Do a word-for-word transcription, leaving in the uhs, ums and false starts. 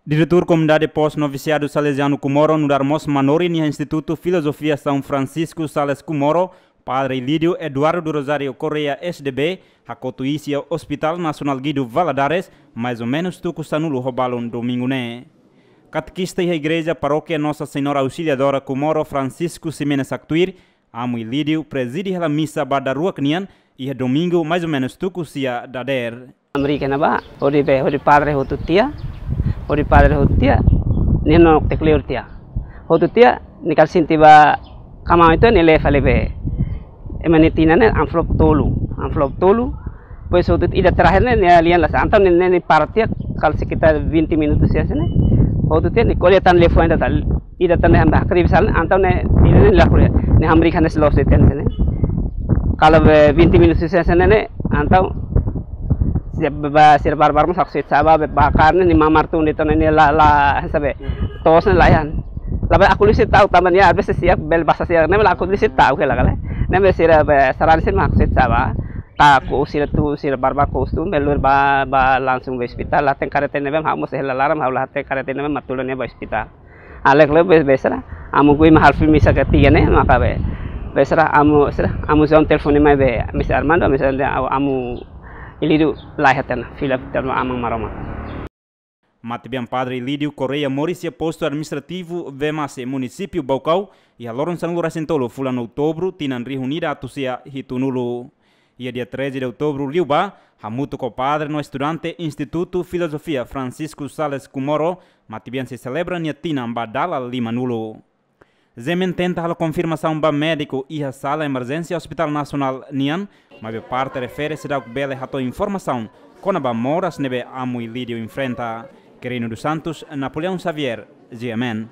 Diretór Komunidade Pós-Novisiadu Salesianu Comoro nu'udar mós manorin iha Institutu Filozofia São Francisco Sales Comoro, Padre Ilídio Eduardo do Rosário Correia, S D B, hakotu iis iha Hospital Nasionál Guido Valadares, mais ou menus tuku sanulu ho balun domingu ne'e. Katekista iha Igreja Parókia Nossa Senhora Auxiliadora Comoro, Francisco Ximenes Actuir, Amu Ilídio prezide hela misa ba daruak nian iha domingu mais ou menus tuku sia dadeer. Amrika ne'ebá, hodi be, hodi padre hotu tiha, hodi padre hotu tiha, nia nonok ita kleur tiha. Hotu tiha, nia kala sente ba kama itu nia leva lebe. Ema nia tinan ne'e envelope tolu, envelope tolu. Depois hotu ida terakhir ne'e, nia lian la sa. Entaun ne'e, ne'e, nia para tiha, kala sekitar vinte minutos ya sini. Hotu tiha, nia ko'alia tan telefone ida tan, ida tan ne'e handa hakribi sal, entaun ne'e, ida ne'e la ko'alia. Ne'e hamriik hanesan loos de'it sini. Kala be vinte minutos ya sini ne'e, entaun, sira ba, sira barbar mós haksoit sa'e ba, be bakar ne'e, nia mamar tun de'it tan ne'e, la, la, sabe, toos ne'e la iha. Lae be aku lisi tau, tanba nia, às vezes siak, bele basa siak, ne'e be la aku lisi tau, kela kala. Ne'e be sira be, sarani sira mak haksoit sa'e ba. Ka ko'us sira tun, sira barbar ko'us tun, belur ba, ba langsung ba ospitál, la hatene kareta ne'ebé, ha'u mós hela laran, ha'u la hatene kareta ne'ebé, mak tulun nia ba ospitál. Alek le be, be sira, amu kui mahal fil misa ketiga ne'e, maka be. Be sira, amu, sira, amu João telefone mai be, misa Armando, misa Armando, amu Ilídio la hatene, fila terma Aman Maromak. Matebian Padre Ilídio Correia moris iha postu administrativu Vemase, munisípiu Baucau, iha loron sanulu-resin-tolu fulan Outubru, tinan rihun ida atus sia hitunulu. Iha dia treze de outubro liubá, hamutuk ho padre no estudante Institutu Filozofia Francisco Sales Comoro, matebian sei selebra nia tinan ba dala limanulu. Zemen tenta halo konfirmasaun ba médiku iha sala emerjénsia Hospital Nasionál nian, maibé parte refere seidauk bele hato'o informasaun kona-ba moras ne'ebé Amu Ilídio enfrenta. Quirino dos Santos, Napoleão Xavier, G M N.